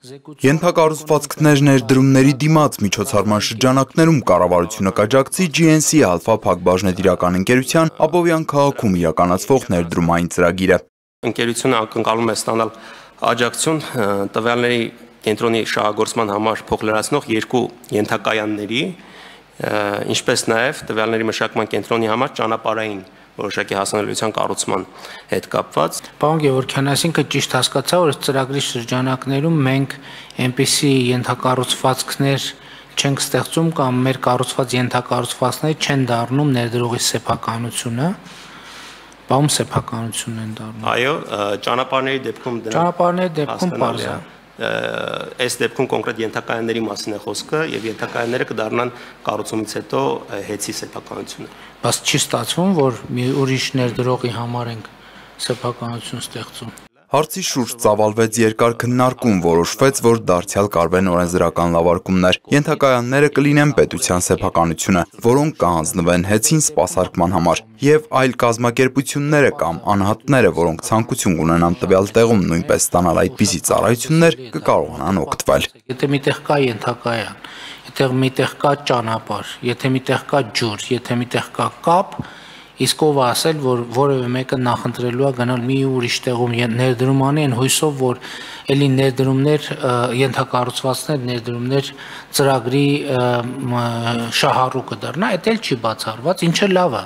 Ենթակառուցվածքներ ներդրումների դիմաց միջոցառման շրջանակներում կառավարությունը կաջակցի GNC Alpha փակbaşնետիրական ընկերության Աբովյան քաղաքում իրականացվող ներդրումային ծրագիրը։ Ընկերությունը ակնկալում է ստանալ աջակցություն տվյալների կենտրոնի շահագործման համար փոխլրացնող երկու ենթակայանների, ինչպես նաև տվյալների մշակման կենտրոնի համար ճանապարհային որոշակի հասանելիության կառուցման հետ կապված։ Պարոն Գևորգյան, այսինքն ճիշտ հասկացա, որ ծրագրի շրջանակներում մենք այնպիսի ենթակառուցվածքներ չենք ստեղծում կամ մեր կառուցված ենթակառուցվածքները չեն դառնում ներդրողի սեփականությունը, բանում սեփականություն են դառնում։ Այո, ճանապարհների դեպքում բարձ է։ Այս դեպքում կոնկրետ ենթակայանների մասին է խոսքը եւ ենթակայանները կդառնան կառուցումից հետո հեծի սեփականությունը։ Բայց չի ստացվում, որ մի ուրիշ ներդրողի համար ենք սեփականություն ստեղծում։ Հարցի շուրջ ծավալվեց երկար քննարկում, որոշվեց, որ դարձյալ կարվեն օրենսդրական լավարկումներ։ Ենթակայանները կլինեն պետության սեփականությունը, որոնք կհանձնվեն հեծին սպասարկման համար, եւ այլ կազմակերպությունները կամ անհատները, որոնք ցանկություն ունենան տվյալ տեղում նույնպես ստանալ այդպիսի ծառայություններ, կկարողանան օգտվել։ Եթե միտեղ կա ենթակայան, եթե միտեղ կա ճանապարհ, եթե միտեղ կա ջուր, եթե միտեղ կա կապ, իսկ ով ասել, որ որևէ մեկը նախընտրելու է գնալ մի ուրիշ տեղում ներդրում անի, այն հույսով, որ էլի ներդրումներ, ենթակառուցվածքներ, ներդրումներ ծրագրի շահառուկը դառնա, այդ էլ չի բացառված, ինչը լավ է,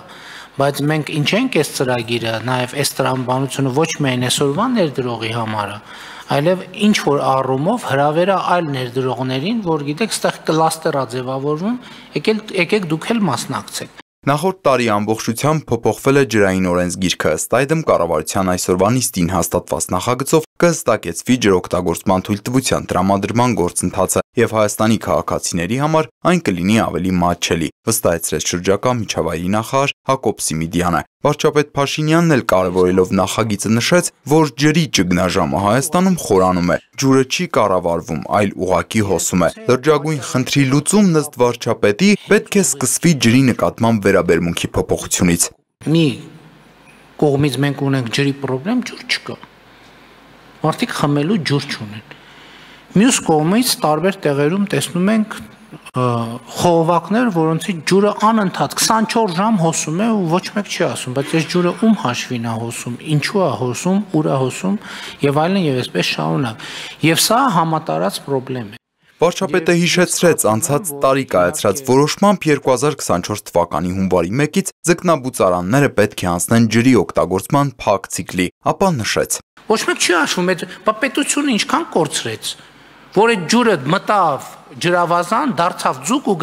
բայց մենք ինչ ենք այս ծրագիրը, նաև այս տրամաբանությունը ոչ միայն այսօրվա ներդրողի համար է, այլև ինչ որ առումով հրավերը այլ ներդրողներին, որ գիտեք, այստեղ կլաստեր է ձևավորվում, եկեք դուք էլ մասնակցեք։ Նախորդ տարի ամբողջությամբ փոփոխվել է ջրային օրենսգիրքը, ըստ այդմ կառավարության այսօրվա նիստին հաստատված նախագծով կհստակեցվի ջրօգտագործման թույլտվության տրամադրման գործընթացը եւ Հայաստանի քաղաքացիների համար այն կլինի ավելի մատչելի, վստահեցրեց շրջակա միջավայրի նախարար Հակոբ Սիմիդյանը։ Վարչապետ Փաշինյանն էլ կարևորելով նախագիծը նշեց, որ ջրի ճգնաժամը Հայաստանում խորանում է, ջուրը չի կառավարվում, այլ ուղղակի հոսում է։ Լրջագույն խնդրի լուծումն ըստ վարչապետի պետք է սկսվի ջրի նկատմամբ վերաբերմունքի փոփոխությունից։ Մի կողմից մենք ունենք ջրի խնդրեմ, ջուր չկա։ Մարդիկ խմելու ջուր չունեն։ Մյուս կողմից տարբեր տեղերում տեսնում ենք խողովակներ, որոնցից ջուրը անընդհատ 24 ժամ հոսում է ու ոչ մեկ չի ասում, բայց այս ջուրը ում հաշվին է հոսում, ինչու է հոսում, ուր է հոսում եւ այլն եւ այսպես շարունակ։ Եվ սա համատարած խնդրեմ է։ Վարչապետը հիշեցրեց անցած տարի կայացրած որոշմամբ 2024 թվականի հունվարի 1-ից ձկնաբուծարանները պետք է անցնեն ջրի օգտագործման փակ ցիկլի, ապա նշեց. Ոչ մեկ չի հաշվում, պետությունը ինչքան կորցրեց, որ այդ ջուրը մտավ ջրավազան, դարձավ ձուկ ու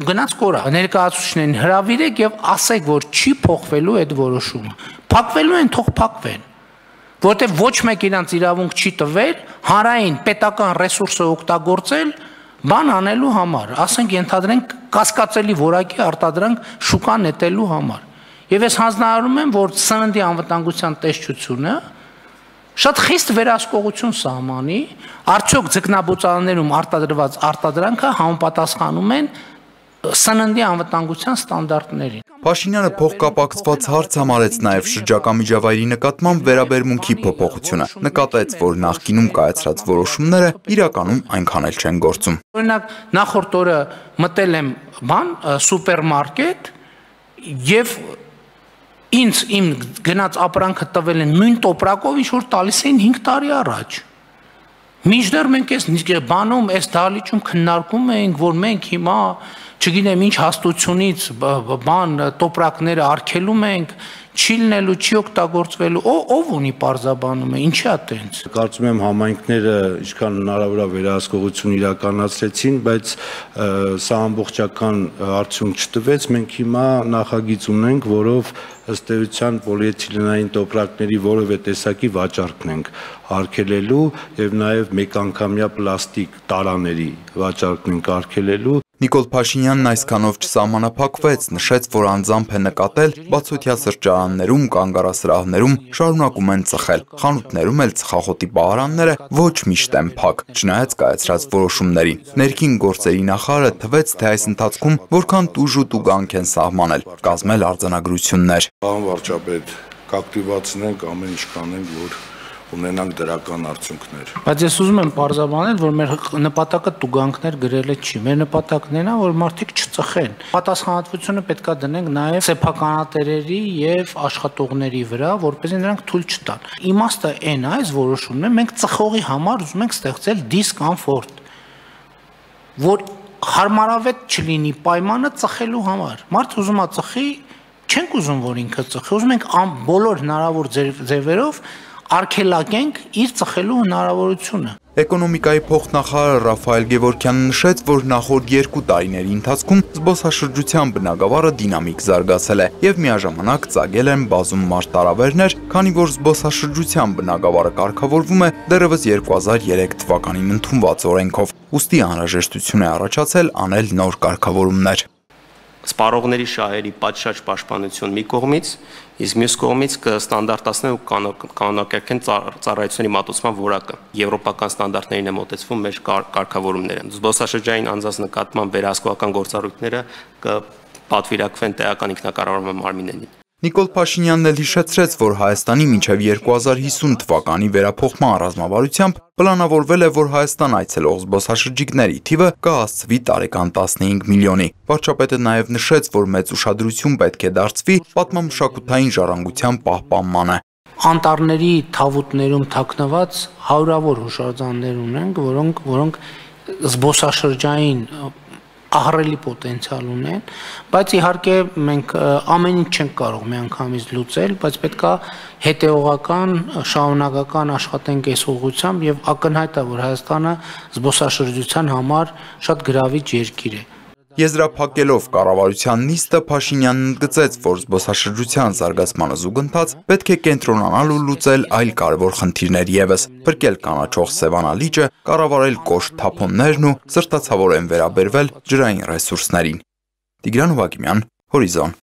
գնաց կորա։ Ներկայացուցիչներին հրավիրեք եւ ասեք, որ չի փոխվելու այդ որոշումը։ Փակվելու են, թող փակվեն։ Որտեղ ոչ մեկ իրանց իրավունք չի տվել հանրային պետական ռեսուրսը օգտագործել բան անելու համար, ասենք ենթադրենք կասկածելի որակի արտադրանք շուկա նետելու համար։ Եվ ես հանձնարարում եմ, որ սննդի անվտանգության տեսչությունը շատ խիստ վերահսկողություն սահմանի, արդյոք ձկնաբուծարաններում արտադրված արտադրանքը համապատասխանում են սննդի անվտանգության ստանդարտներին։ Փաշինյանը փոխկապակցված հարց համարեց նաև շրջակա միջավայրի նկատմամբ վերաբերմունքի փոփոխությունը, նկատեց, որ նախկինում կայացրած որոշումները իրականում այնքան էլ չեն գործում։ Օրինակ, նախորդ օրը մտել եմ սուպերմարկետ եւ ինձ իմ գնաց ապրանքը տվել են նույն տոպրակով, ինչ որ տալիս էին 5 տարի առաջ։ Մինչդեռ մենք այս բանում, այս դահլիճում քննարկում էինք, որ մենք հիմա չգիտեմ ինչ հաստությունից բան տոպրակները արգելում ենք, չի լինելու, չի օգտագործվելու, ով ունի պարզաբանում է, ինչի՞ է տենց։ Կարծում եմ համայնքները ինչքան հնարավոր է վերահսկողություն իրականացրեցին, բայց սա ամբողջական արդյունք չտվեց, մենք հիմա նախագիծ ունենք, որով ըստ էության պոլիէթիլենային տոպրակների որևէ տեսակի վաճառքն ենք արգելելու եւ նաեւ մեկանգամյա պլաստիկ տարաների վաճառքն ենք արգելելու։ Նիկոլ Փաշինյանն այսքանով չսահմանափակվեց, նշեց, որ անձամբ է նկատել բացօթյա սրճարաններում, կանգառասրահներում շարունակում են ծխել, խանութներում էլ ծխախոտի պահարանները ոչ միշտ են փակ, չնայած կայացրած որոշումներին։ Ներքին գործերի նախարարը թվեց, թե այս ընթացքում որքան տուժ ու տուգանք են սահմանել, կազմել արձանագրություններ։ Պարոն վարչապետ, կակտիվացնենք, ամեն ինչ կանենք, որ ունենանք դրական արդյունքներ։ Բայց ես ուզում եմ պարզաբանել, որ մեր նպատակը տուգանքներ գրելը չի։ Մեր նպատակն է նա, որ մարդիկ չծխեն։ Պատասխանատվությունը պետքա դնենք նաև սեփականատերերի եւ աշխատողների վրա, որպեսզի նրանք թույլ չտան։ Իմաստը այն է, այս որոշումն է, մենք ծխողի համար ուզում ենք ստեղծել դիսկոմֆորտ, որ հարմարավետ չլինի պայմանը ծխելու համար։ Մարդը ուզում է ծխի, չենք ուզում, որ ինքը ծխի, ուզում ենք բոլոր հնարավոր ձևերով արգելակենք իր ծխելու հնարավորությունը։ Էկոնոմիկայի փոխնախարար Ռաֆայել Գևորգյանը նշեց, որ նախորդ 2 տարիների ընթացքում զբոսաշրջության բնագավառը դինամիկ զարգացել է եւ միաժամանակ ծագել են բազում մարտահրավերներ, քանի որ զբոսաշրջության բնագավառը կարգավորվում է դեռևս 2003 թվականին ընդունված օրենքով։ Ուստի անհրաժեշտություն է առաջացել անել նոր կարգավորումներ։ Սպառողների շահերի պատշաճ պաշտպանություն մի կողմից, իսկ մյուս կողմից կստանդարտացնեն ու կանոնակարգեն ծառայությունների մատուցման որակը։ Եվրոպական ստանդարտներին է մոտեցվում մեր կարգավորումները։ Զբոսաշրջային անձանց նկատմամբ վերահսկողական գործառույթները կպատվիրակվեն տեղական ինքնակառավարման մարմիններին։ Նիկոլ Փաշինյանն էլ հիշեցրեց, որ Հայաստանի մինչև 2050 թվականի վերափոխման ռազմավարությամբ պլանավորվել է, որ Հայաստան այցելող զբոսաշրջիկների թիվը կհասցվի տարեկան 15 միլիոնի։ Վարչապետը նաև նշեց, որ մեծ ուշադրություն պետք է դարձվի պատմամշակութային ժառանգության պահպանմանը։ Անտառների թավուտներում թաքնված հարյուրավոր հուշարձաններ ունենք, որոնք զբոսաշրջային ահռելի պոտենցիալ ունեն, բայց իհարկե մենք ամեն ինչ չենք կարող միանգամից լուծել, բայց պետքա հետևողական, շարունակական աշխատենք այս ուղղությամբ եւ ակնհայտ է, որ Հայաստանը զբոսաշրջության համար շատ գրավիչ երկիր է։ Եզրափակելով կառավարության նիստը Փաշինյանն ընդգծեց, որ զբոսաշրջության զարգացմանը զուգընթաց պետք է կենտրոնանալ ու լուծել այլ կարևոր խնդիրներ ևս, փրկել կանաչող Սևանա լիճը, կառավարել կոշտ թափոններն ու սրտացավորեն վերաբերվել ջրային ռեսուրսներին։ Տիգրան Հովակիմյան, Հորիզոն։